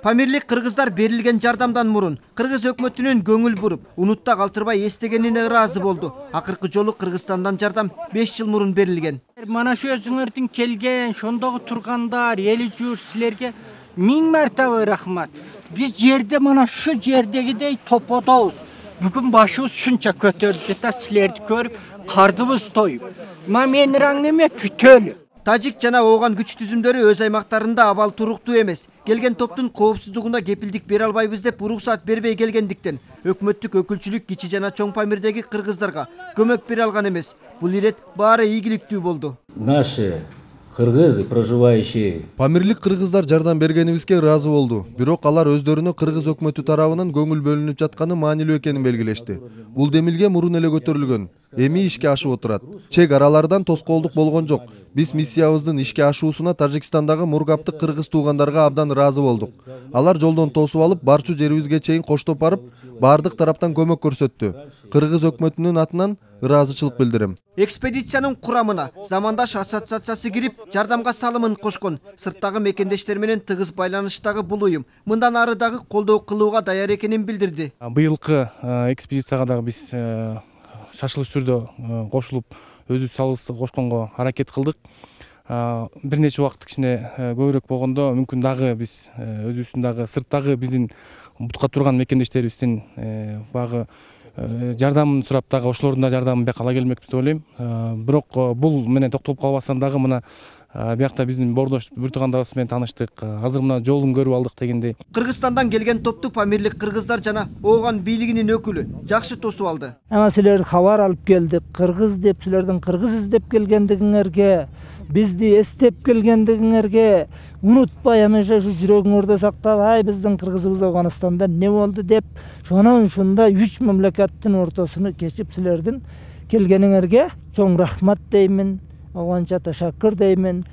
Памирлик кыргыздар берилген жардамдан мурун кыргыз өкмөтүнүн көңүл буруп, унутта калтырбай эстегенине ыраазы болду. Акыркы жолу Кыргызстандан жардам 5 жыл мурун берилген. Мана şu өзүңөрдүн келген, шондогу тургандар, эли жур силерге миң мартабы рахмат. Биз жерде мана şu жердегидей топодобуз. Бүгүн башыбыз шунча көтөрүп жата, силерди көрүп, кардыбыз тоюп. Менин раңнеме бүтөлү. Тажик жана ооган күч түзүмдөрү өз аймактарында абал туруктуу эмес. Келген топтун коопсуздугуна кепилдик бере албайбыз деп уруксаат бербей келгендиктен өкмөттүк өкүлчүлүк кичи жана чоң Памирдеги кыргыздарга көмөк бере алган эмес. Бул ирет баары ийгиликтүү болду. Наши кыргызы, проживающие. Памирлик кыргыздар жардам бергенибизге ыраазы болду. Бирок алар өздөрүнө кыргыз өкмөтү тарабынан көңүл бөлүнүп жатканы маанилүү экенин белгилешти. Бул демилге мурун эле көтөрүлгөн. Эми ишке ашып отурат. Чек аралардан тоскоолдук болгон жок. Биз миссиябыздын ишке ашуусуна Тажикстандагы мургаптык кыргыз туугандарга абдан ыраазы болдук. Алар жолдон тосуп алып, барчу жерибизге чейин коштоп барып, бардык тараптан көмөк көрсөттү. Кыргыз өкмөтүнүн атынан ыраазычылык билдирем. Экспедициянын курамына замандаш ассоциациясы кирип, жардамга салымын кошкон. Сырттагы мекендештер менен тыгыз байланыштагы бул уюм мындан ары дагы колдоо кылууга даяр экенин билдирди. Быйылкы экспедицияга дагы биз шашылыш түрдө кошулуп, өзүбүз салыбызды кошконго аракет кылдык. Бир нече убакыт кичине көбүрөөк болгондо мүмкүн дагы биз өзүбүздүн дагы сырттагы биздин бутка турган мекендештерибиздин багы жардамын сурап дагы ошолордун да жардамын бияка ала келмекпиз деп ойлойм. Бирок бул менен токтолуп калбастан дагы мына биякта биздин бордош бир туугандарыбыз менен тааныштык. Азыр мына жолун көрүп алдык дегендей. Кыргызстандан келген топту Памирлик кыргыздар жана ооган бийлигинин өкүлү жакшы тосуп алды. Ама силер кабар алып келдик. Кыргыз деп силердин кыргыз издеп келгендигиңерге, бизди эстеп келгендигиңерге унутпай амеша ушу жүрөгүңөрдө сактабай, биздин кыргызыбыз Афганистанда не болду деп, шонун ушундай 3 мамлекеттин ортосуну кечип силердин келгениңерге чоң рахмат деймин. Оғанча ташаккыр деймин.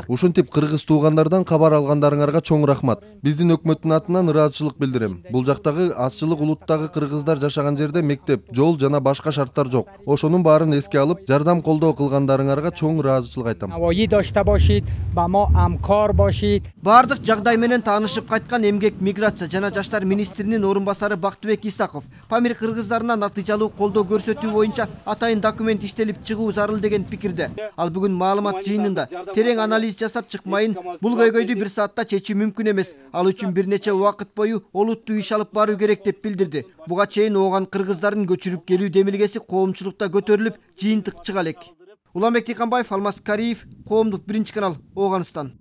Ушинтип кыргыз туугандардан кабар алгандарыңарга чоң рахмат. Биздин өкмөттүн атынан ыраазычылык билдирем. Бул жактагы азчылык улуттагы кыргыздар жашаган жерде мектеп, жол жана башка шарттар жок. Ошонун баарын эске алып, жардам колдоо кылгандарыңарга чоң ыраазычылык айтам. Бардык жагдай менен таанышып кайткан эмгек, миграция жана жаштар министринин орун басары Бактыбек Исаков Памир кыргыздарына натыйжалуу колдоо көрсөтүү боюнча атайын документ иштелип чыгуу зарыл деген пикирде. Ал бүгүн маалымат жыйынында терең анализ жасап чыкмайын, бул көйгөйдү бир саатта чечүү мүмкүн эмес. Ал үчүн бир нече убакыт бою олуттуу иш алып баруу керек деп билдирди. Буга чейин ооган кыргыздардын көчүрүп келүү демилгеси коомчулукта көтөрүлүп, жыйынтык чыга элек. Уланбек Тыйканбаев, Алмаз Кариев, Коомдук 1 канал, Оганстан.